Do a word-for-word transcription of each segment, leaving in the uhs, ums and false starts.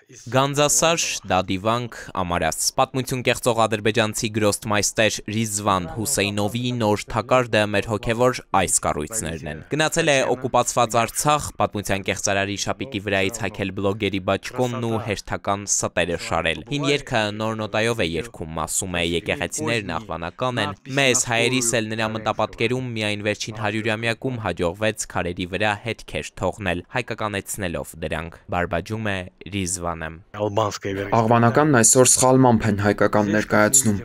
Գանձասար, դադիվանք, ամարաս։ Պատմություն կեղծող ադրբեջանցի գրոստմայստեր Ռիզվան Հուսեյնովի նոր թակարդը մեր հոգևոր այս կառույցներն են։ Գնացել է օկուպացված Արցախ, պատմության կեղծարարի շապիկի վրայից հագել բլոգերի բաճկոնն ու հերթական ստերը շարել։ Հին երգը նոր նոտայով է երգում, ասում է եկեղեցիներն աղվանական են։ Մեզ հայերիս էլ նրա մտապատկերում միայն վերջին հարյուրամյակում հաջողվեց քարերի վրա հետքեր թողնել, հայկականեցնելով դրանք, բարբաջում է Ռիզվանը։ Աղվանականն այսօր սխալմամբ են հայկական ներկայացնում։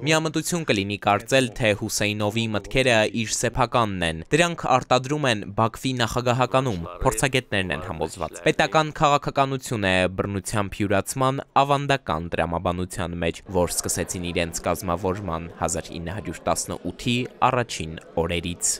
Միամտություն կլինի կարծել, թե Հուսեյնովի մտքերը իր սեփականն են։ Դրանք արտադրում են Բաքվի նախագահականում, փորձագետներն են համոզված։ Պետական քաղաքականություն է բռնությամբ յուրացման ավանդական տրամաբանության մեջ, որ սկսեցին իրենց կազմավորման հազար ինը հարյուր տասնութի առաջին օրերից։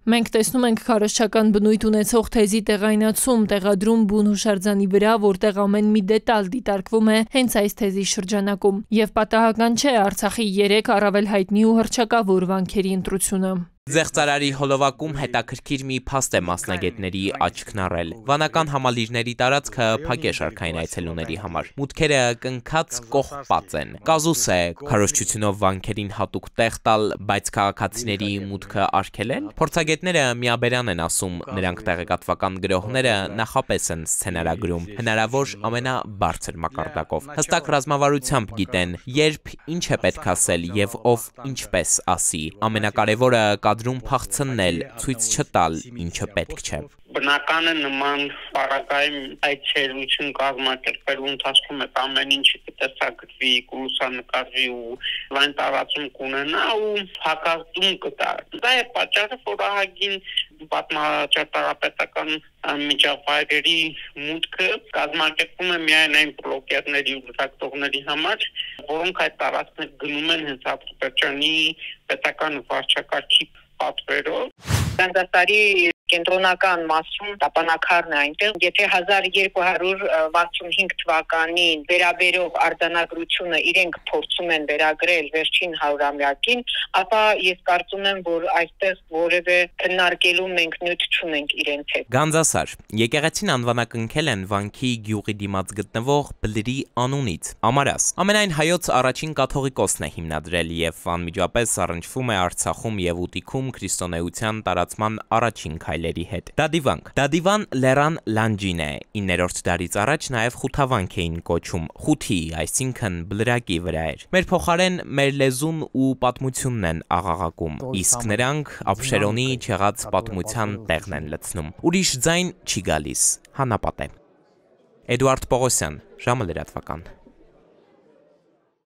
Մենք տեսնում ենք քարոզչական բնույթ ունեցող թեզի տեղայնացում, տեղադրում բուն հուշարձանի վրա, որտեղ ամեն մի դետալ դիտարկվում է հենց այս թեզի շրջանակում, եւ պատահական չէ Արցախի երեք առավել հայտնի ու հռչակավոր վանքերի ընտրությունը։ Ձեղծարարի հոլովակում հետաքրքիր մի փաստ է մասնագետների աչքն առել։ Վանական համալիրների տարածքը փակ է շարքային այցելուների համար։ Մուտքերը կնքած կողպած են։ Կազուս է քարոզչությունով վանքերին հատուկ տեղ տալ, բայց քաղաքացիների մուտքը արգելել։ Փորձագետները միաբերան են ասում, նրանք տեղեկատվական գրողները նախապես են սցենարագրում, հնարավոր ամենաբարձր մակարդակով։ Հստակ ռազմավարությամբ գիտեն, երբ ինչ է պետք ասել եւ ով ինչպես ասի։ Ամենակարևորը կադրում փախցնել, ցույց չտալ, ինչը պետք չէ։ Բնական է նման պարագայում այցելություն կազմակերպելու ընթացքում է ամեն ինչը կտեսագրվի, կլուսանկարվի ու լայն տարածում կունենա ու հակազդում կտա։ Դա է պատճառը, որ ահագին պատմաճարտարապետական միջավայրերի մուտքը կազմակերպվում է միայն այն բլոգերների ու լրագրողների համար, որոնք այդ տարածքներ գնում են հենց Ադրբեջանի պետական վարչակարգի պատվերով։ Գանձասարի կենտրոնական մասում տապանակարն է այնտեղ, եթե հազար երկու հարյուր վաթսունհինգ թվականին վերաբերող արձանագրությունը իրենք փորձում են վերագրել վերջին հարյուրամյակին, ապա ես կարծում եմ, որ այստեղ որևէ քննարկելու մենք նյութ չունենք իրենց հետ։ Գանձասար եկեղեցին անվանակնքել են վանքի գյուղի դիմաց գտնվող բլրի անունից՝ Ամարաս։ Ամենայն հայոց առաջին կաթողիկոսն է հիմնադրել եւ անմիջապես առնչվում է Արցախում եւ Ուտիքում քրիստոնեության տարածման առաջին քայլերի հետ։ Դադիվանք Դադիվան լեռան լանջին է, իններորդ դարից առաջ նաև խութավանք էին կոչում, խութի, այսինքն բլրակի վրա էր։ Մեր փոխարեն մեր լեզուն ու պատմությունն են աղաղակում, իսկ նրանք Աբշերոնի չեղած պատմության տեղն են լցնում։ Ուրիշ ձայն չի գալիս, հանապատ է։ Էդուարդ Պողոսյան, ժամը լրատվական։